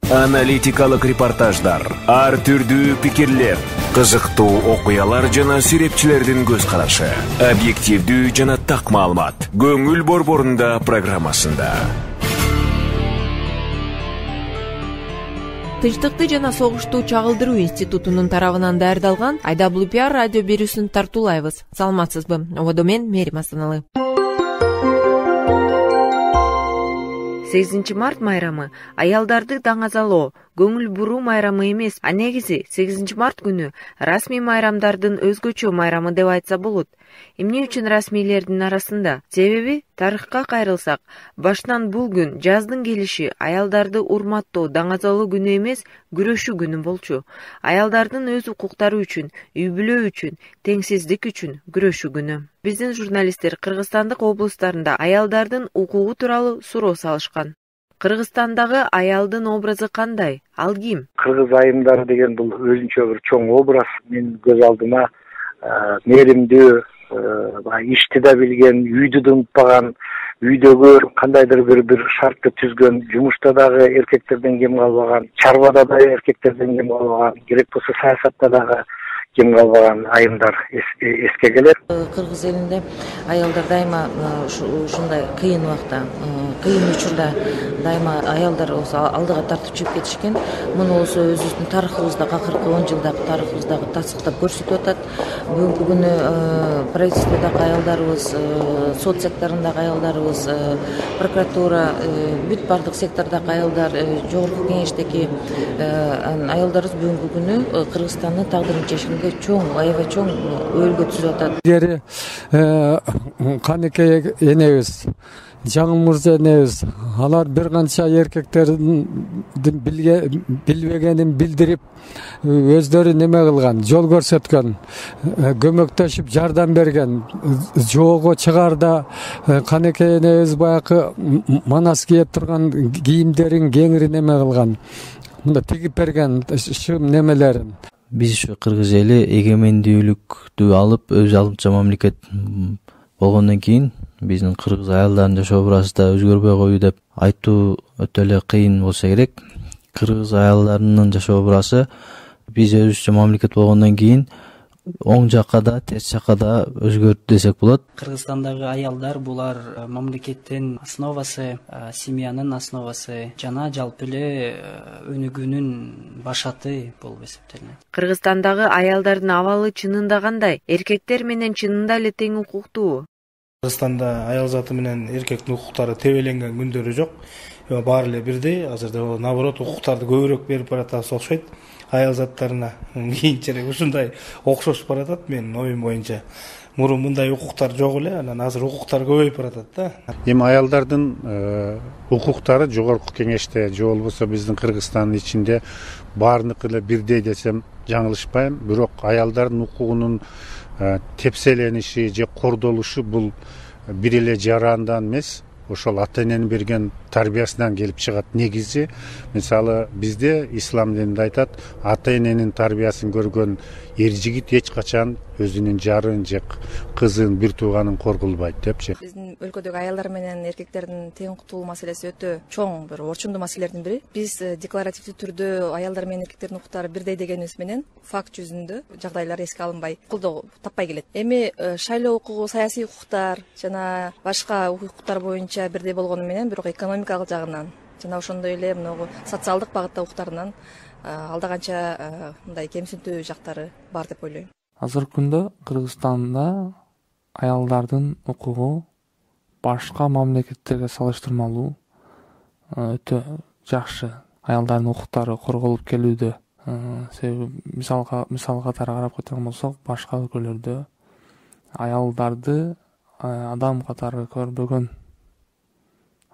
Аналитикалык репортаждар, ар түрдүү пикирлер, кызыктуу окуялар жана сүрөтчүлөрдүн көз карашы, объективдүү жана так маалымат. Көңүл борборунда программасында. Тынчтыкты жана согушту чагылдыруу институтунун тарабынан даярдалган IWPR радио берүүсүн тартуулайбыз. Саламатсызбы? Ободо мен Мерим Астаналы. 8 март майрамы аялдарды даңазалоо, көңүл буруу майрамы эмес, а негизи 8 март күнү расмий майрамдардын өзгөчө майрамы деп айтса болот. Эмне үчүн расмийлердин арасында? Себеби тарыхка кайрылсак, башынан бул күн жаздын келиши аялдарды урматтоо, даңазалоо күнү эмес, күрөшүү күнү болчу. Аялдардын өз укуктары үчүн, үй бүлө үчүн, теңсиздик үчүн күрөшүү күнү. Биздин журналисттер Кыргызстандык облустарында аялдардын укугу тууралуу суроо салышкан. Кыргызстандагы аялдын образы кандай? Ал ким? Кыргыз айымдары деген бул өзүнчө бир чоң образ. Мен көз алдыма мээримдүү, ишти да билген, үйдү да унутпаган, үйдөгү кандайдыр бир шартты түзгөн, жумушта дагы эркектерден кем калбаган, чарбада да эркектерден кем калбаган, керек болсо саясатта дагы кем калбаган айымдар эске келет. Кыргыз элинде аялдар дайыма ушундай кыйын убакта, кыйын учурда дайыма аялдар болсо алдыга тартып чыгып кетишкен. Муну болсо өзүбүздүн тарыхыбызда, акыркы 10 жылдагы тарыхыбыздагы тасыктап көрсөтүп атат. Бүгүнкү күнү правительстводагы аялдарыбыз, сот секторундагы аялдарыбыз, прокуратура, бүт бардык сектордогу аялдар, жогорку кеңештеги аялдарыбыз бүгүнкү күнү Кыргызстандын тагдырын чечкенге чоң, аябай чоң өөлгө түзүп атат. Гери Канекей энебиз, Жаңыл Мырза энебиз, алар бир канча эркектердин билбегенин билдирип, өздөрү неме кылган, жол көрсөткөн, көмөктөшүп жардам берген, жоого чыгарда Канекей энебиз баягы манас кийип турган кийимдерин кеңири неме кылган, мында тигип берген шым немелерин. Биз ушу кыргыз эли эгемендүүлүктү алып, өз алдынча мамлекет болгондон кийин биздин кыргыз аялдарынын жашоо образы да өзгөрбөй коюу деп айтуу өтө эле кыйын болсо керек. Кыргыз аялдарынын жашоо образы биз өзүбүзчө мамлекет болгондон кийин оң жакка да, терс жакка да өзгөрдү десек болот. Кыргызстандагы аялдар булар мамлекеттин основасы, семьянын основасы жана жалпы эле өнүгүүнүн башаты болуп эсептелинет. Кыргызстандагы аялдардын абалы чынында кандай? Эркектер менен чынында эле тең укуктуубу? Кыргызстанда аял заты менен эркектин укуктары тебеленген күндөрү жок. Баары эле бирдей. Азырда наоборот укуктарды көбүрөөк берип баратабыз окшойт. Аял заттарына кийинчерээк ушундай окшошуп баратат менин оюм боюнча. Мурун мындай укуктар жок эле, анан азыр укуктар көбөйүп баратат да. Эми аялдардын укуктары жогорку кеңеште же болбосо биздин Кыргызстандын ичинде баарыныкы эле бирдей десем жаңылышпайм. Бирок аялдардын укугунун тепселениши же кордолушу бул бир эле жарандан эмес, ошол ата эненин берген тарбиясынан келип чыгат. Негизи мисалы бизде ислам дининде айтат, ата эненин тарбиясын көргөн эр жигит эч качан өзүнүн жарын же кызын, бир тууганын коргулбайт депчи. Биздин өлкөдөгү аялдар менен эркектердин тең укуктуулугу маселеси өтө чоң, бир орчундуу маселелердин бири. Биз декларативдүү түрдө аялдар менен эркектердин укуктары бирдей дегенибиз менен факт жүзүндө жагдайлар эске алынбай, колдоо таппай келет. Эми шайлоо укугу, саясий укуктар жана башка укуктар боюнча бирдей болгону менен, бирок экономикалык жагынан жана ошондой эле мынагу социалдык багытта укуктарынан алда канча мындай кемсинтүү жактары бар деп ойлойм. Азыркы күндө Кыргызстанда аялдардын укугу башка мамлекеттерге салыштырмалуу өтө жакшы. Аялдардын укуктары корголуп келүүдө. Себеби мисал катары карап кеткен болсок, башка өлкөлөрдө аялдарды адам катары көрбөгөн,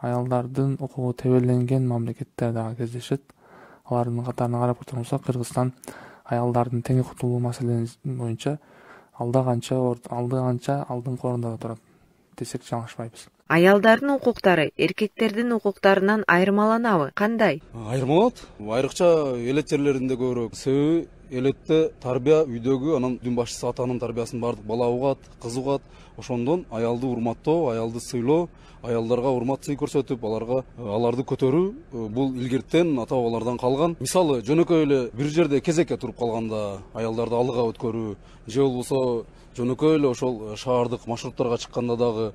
аялдардын укугу тебеленген мамлекеттер дагы кездешет. Алардын катарына карап кеткен болсок, Кыргызстан аялдардын тең укуктуулугу маселеси боюнча алда канча алдыңкы орунда турат десек жаңылышпайбыз. Аялдардын укуктары эркектердин укуктарынан айырмаланабы? Кандай? Айырмаланат. Айрыкча элет жерлеринде көбүрөөк. Себеби элетте тарбия үйдөгү, анан үйдүн башчысы атанын тарбиясын бардык бала угат, кыз угат. Ошондон аялды урматтоо, аялды сыйлоо, аялдарга урмат сый көрсөтүп, аларды көтөрүү бул илгертен ата бабалардан калган. Мисалы жөнөкөй эле бир жерде кезекке туруп калганда аялдарды алдыга өткөрүү, же болбосо жөнөкөй эле ошол шаардык маршруттарга чыкканда дагы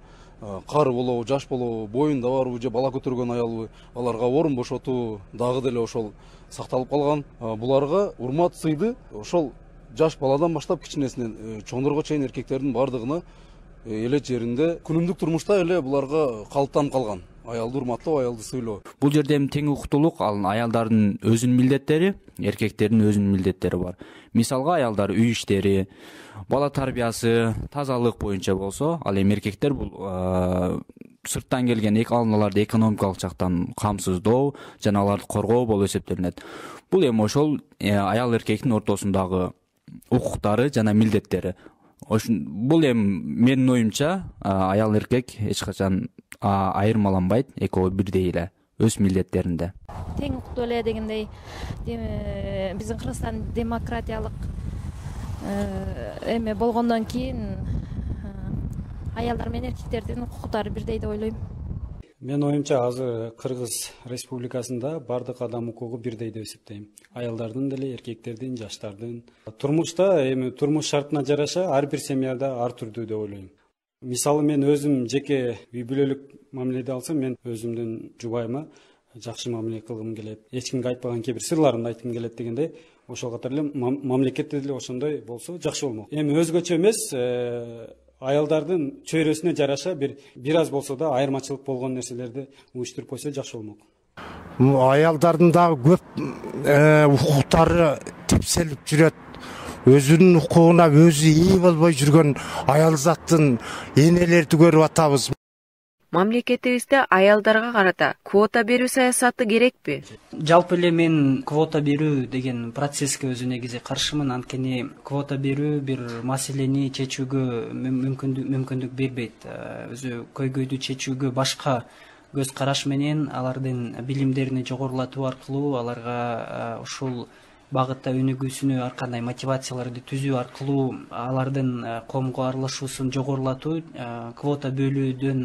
кары болобу, жаш болобу, боюнда барбы же бала көтөргөн аялбы, аларга орун бошотуу дагы деле ошол сакталып калган. Буларга урмат сыйды ошол жаш баладан баштап кичинесинен чоңдорго чейин эркектердин бардыгына элет жеринде күнүмдүк турмушта эле буларга калыптанып калган. Аялды урматтоо, аялды сыйлоо. Бул жерде эми тең укуктуулук, ал аялдардын өзүнүн милдеттери, эркектердин өзүнүн милдеттери бар. Мисалга аялдар үй иштери, бала тарбиясы, тазалык боюнча болсо, ал эми эркектер бул сырттан келген аларды экономикалык жактан камсыздоо жана аларды коргоо болуп эсептелинет. Бул эми ошол аял эркектин ортосундагы укуктары жана милдеттери. Бул эми менин оюмча аял эркек эч качан айырмаланбайт, экөө бирдей эле өз милдеттеринде. Тең укуктуу эле дегендей, биздин Кыргызстан демократиялык эме болгондон кийин аялдар менен эркектердин укуктары бирдей деп ойлойм. Менин оюмча азыр Кыргыз Республикасында бардык адам укугу бирдей деп эсептейм. Аялдардын деле, эркектердин, жаштардын. Турмушта эми турмуш шартына жараша ар бир семьяда ар түрдүү деп ойлойм. Мисалы мен өзүм жеке үй бүлөлүк мамиледе алсам, мен өзүмдүн жубайыма жакшы мамиле кылгым келет. Эч кимге айтпаган кээ бир сырларымды айткым келет дегендей, ошол катары эле мамлекетте деле ошондой болсо жакшы болмок. Эми өзгөчө эмес, аялдардын чөйрөсүнө жараша бир аз болсо да айырмачылык болгон нерселерди уюштуруп койсо жакшы болмок. Аялдардын дагы көп укуктары тепселип жүрөт. Өзүнүн укугуна өзү ээ болбой жүргөн аял заттын энелерди көрүп атабыз. Мамлекетибизде аялдарга карата квота берүү саясаты керекпи? Жалпы эле мен квота берүү деген процесске өзү негизи каршымын. Анткени квота берүү бир маселени чечүүгө мүмкүндүк бербейт. Өзү көйгөйдү чечүүгө башка көз караш менен алардын билимдерин жогорулатуу аркылуу, аларга ушул багытта өнүгүүсүнө ар кандай мотивацияларды түзүү аркылуу алардын коомго аралашуусун жогорулатуу квота бөлүүдөн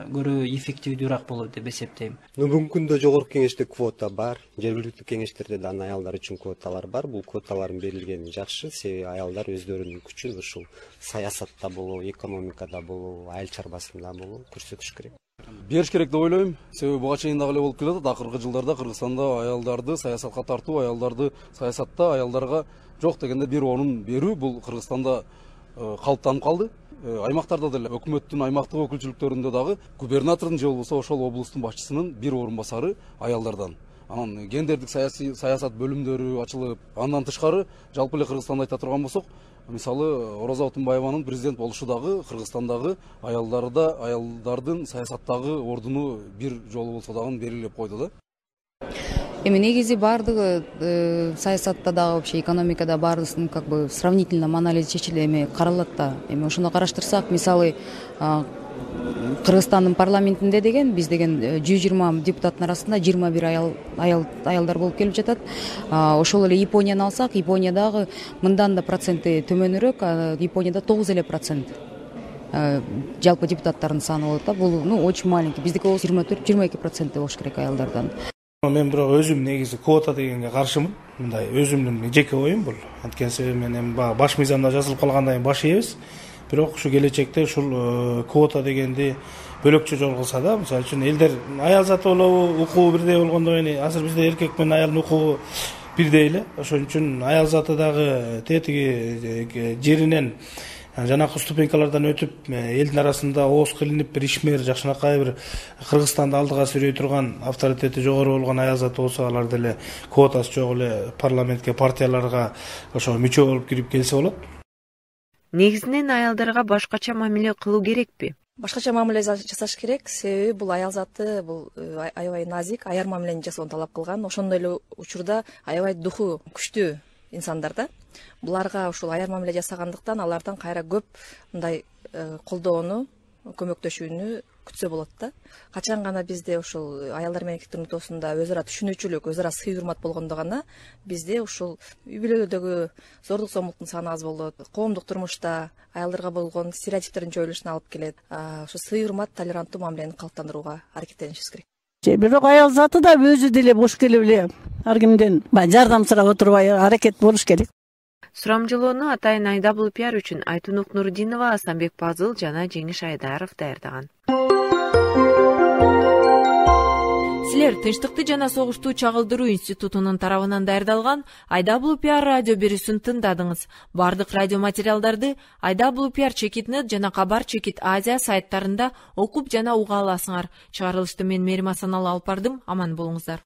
көрө эффективдүүрөөк болот деп эсептейм. Бүгүнкү күндө жогорку кеңеште квота бар, жергиликтүү кеңештерде да аялдар үчүн квоталар бар. Бул квоталардын берилгени жакшы, себеби аялдар өздөрүнүн күчүн ушул саясатта болобу, экономикада болобу, айыл чарбасында болобу көрсөтүш керек. Бериш керек деп ойлойм. Себеби буга чейин дагы эле болуп келет. Акыркы жылдарда Кыргызстанда аялдарды саясатка тартуу, аялдарды саясатта аялдарга жок дегенде бир орун берүү бул Кыргызстанда калыптанып калды. Аймактарда деле өкмөттүн аймактык өкүлчүлүктөрүндө дагы губернатордун же болбосо ошол облустун башчысынын бир орун басары аялдардан. Анан гендердик саясат бөлүмдөрү ачылып, андан тышкары жалпы эле Кыргызстанда айта турган болсок, мисалы Ороза Отунбаеванын президент болушу дагы Кыргызстандагы аялдардын саясаттагы ордуну бир жолу болсо дагы белгилеп койду да. Эми негизи баардыгы саясатта дагы вообще экономикада баарысын как бы сравнительно анализ чечиле каралат да. Эми ошону караштырсак, мисалы Кыргызстандын парламентинде деген биз деген 120 депутаттын арасында 21 аялдар болуп келип жатат. Ошол эле Японияны алсак, Япониядагы мындан да проценти төмөнүрөөк, Японияда 9% жалпы депутаттардын саны болот да. Бул очень маленький. Биздики 24-22% болуш керек аялдардан. Мен бирок өзүм негизи квота дегенге каршымын. Мындай өзүмдүн жеке оюм бул. Анткени себеби мен эми баш мыйзамда жазылып калгандай баш ийбиз. Бирок ушу келечекте ушул квота дегенди бөлөкчө жол кылса да, мисалы үчүн элдер аял заты болобу, укугу бирдей болгондон кийин азыр бизде эркек менен аялдын укугу бирдей эле. Ошон үчүн аял заты дагы тетиги жеринен жанакы ступенькалардан өтүп элдин арасында ооз кылынып бир ишмер жакшынакай бир Кыргызстанды алдыга сүрөй турган авторитети жогору болгон аял заты болсо, алар деле квотасы жок эле парламентке, партияларга ошо мүчө болуп кирип келсе болот. Негизинен аялдарга башкача мамиле кылуу керекпи? Башкача мамиле жасаш керек, себеби бул аял заты бул аябай назик, аяр мамилени жасоону талап кылган. Ошондой эле учурда аябай духу күчтүү инсандар да. Буларга ушул аяр мамиле жасагандыктан алардан кайра көп мындай колдоону, көмөктөшүүнү күтсө болот да. Качан гана бизде ушул аялдар менен эркектердин ортосунда өз ара түшүнүүчүлүк, өз ара сый урмат болгондо гана бизде ушул үй бүлөлөрдөгү зордук зомбулуктун саны аз болот. Коомдук турмушта аялдарга болгон стереотиптердин жоюлушуна алып келет. Ошо сый урмат, толеранттуу мамилени калыптандырууга аракеттенишибиз керек. Бирок аял заты да өзү деле бош келип эле ар кимден баягы жардам сурап отурбай аракет болуш керек. Сурамжылоону атайын IWPR үчүн Айтунук Нурдинова, Асанбек Пазыл жана Жеңиш Айдаров даярдаган. Силер Тынчтыкты жана согушту чагылдыруу институтунун тарабынан даярдалган IWPR радио берүүсүн тыңдадыңыз. Бардык радио материалдарды IWPR Чекит.нет жана Кабар Чекит Азия сайттарында окуп жана уга аласыңар. Чыгарылышты мен Мээрим Асаналы алып бардым. Аман болуңуздар.